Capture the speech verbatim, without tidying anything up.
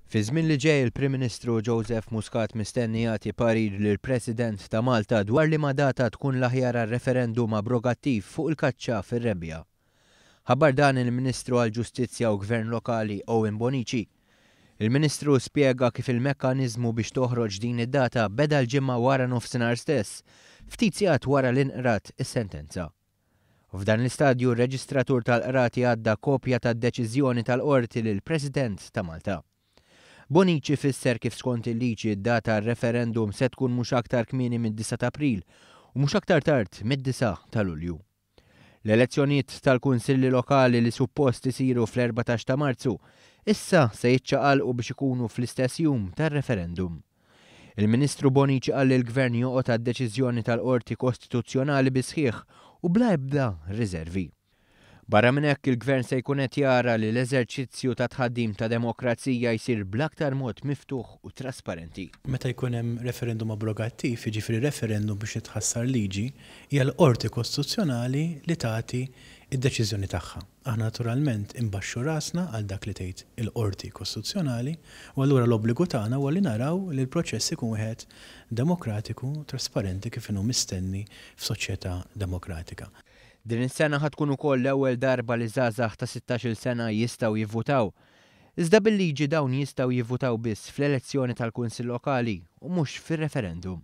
Fi żmien li ġej, il-Prim Ministru Joseph Muscat mistenni jagħti parir lill-President ta' Malta dwar liema data tkun l-aħjar għar-referendum abrogattiv fuq il-kaċċa fir-rebbiegħa. Ħabbar dan il-Ministru għall-Ġustizzja u Gvern Lokali Owen Bonnici. Il-Ministru spjega kif il-mekkaniżmu biex toħroġ din id-data beda l-Ġimgħa wara nofsinhar stess, ftit sigħat wara li nqrat is-sentenza. F'dan l-istadju, r-Reġistratur tal-Qrati għadda kopja tad-deċiżjoni tal-Qorti lill-President ta' Malta. Bonnici fisser kif skont il-liġi d-data referendum se tkun mhux aktar kmieni mid-disgħa ta' April u mhux aktar tard mid-disgħa ta' Lulju. L-elezzjonijiet tal-Kunsilli Lokali li suppost isiru fl-erbatax ta' Marzu issa se jiċċaqalqu biex ikunu fl-istess jum tar-referendum. Il-Ministru Bonnici qal li l-Gvern joqgħod għad-deċiżjoni tal-Qorti Kostituzzjonali bisħieħ u bla ebda riservi. Barra minn hekk, il-Gvern se jkun qed jara li l-eżerċizzju ta' tħaddim ta' demokrazija jsir bl-aktar mod miftuħ u trasparenti. Meta jkun hemm referendum abrogattiv, jiġifieri referendum biex titħassar liġi, hija l-Qorti Kostituzzjonali li tagħti id-deċiżjoni tagħha. Aħna naturalment imbaxxu rasna għal dak li tgħid il-Qorti Kostituzzjonali u allura l-obbligu tagħna huwa li naraw li l-proċess ikun wieħed demokratiku, trasparenti, kif inhu mistenni f'soċjetà demokratika. Din is-sena ħa tkun ukoll l-ewwel darba li żgħażagħ ta' sittax-il sena jistgħu jivvutaw. Iżda bil-liġi dawn jistgħu jivvutaw biss fl-elezzjoni tal-Kunsill Lokali u mhux fir-referendum.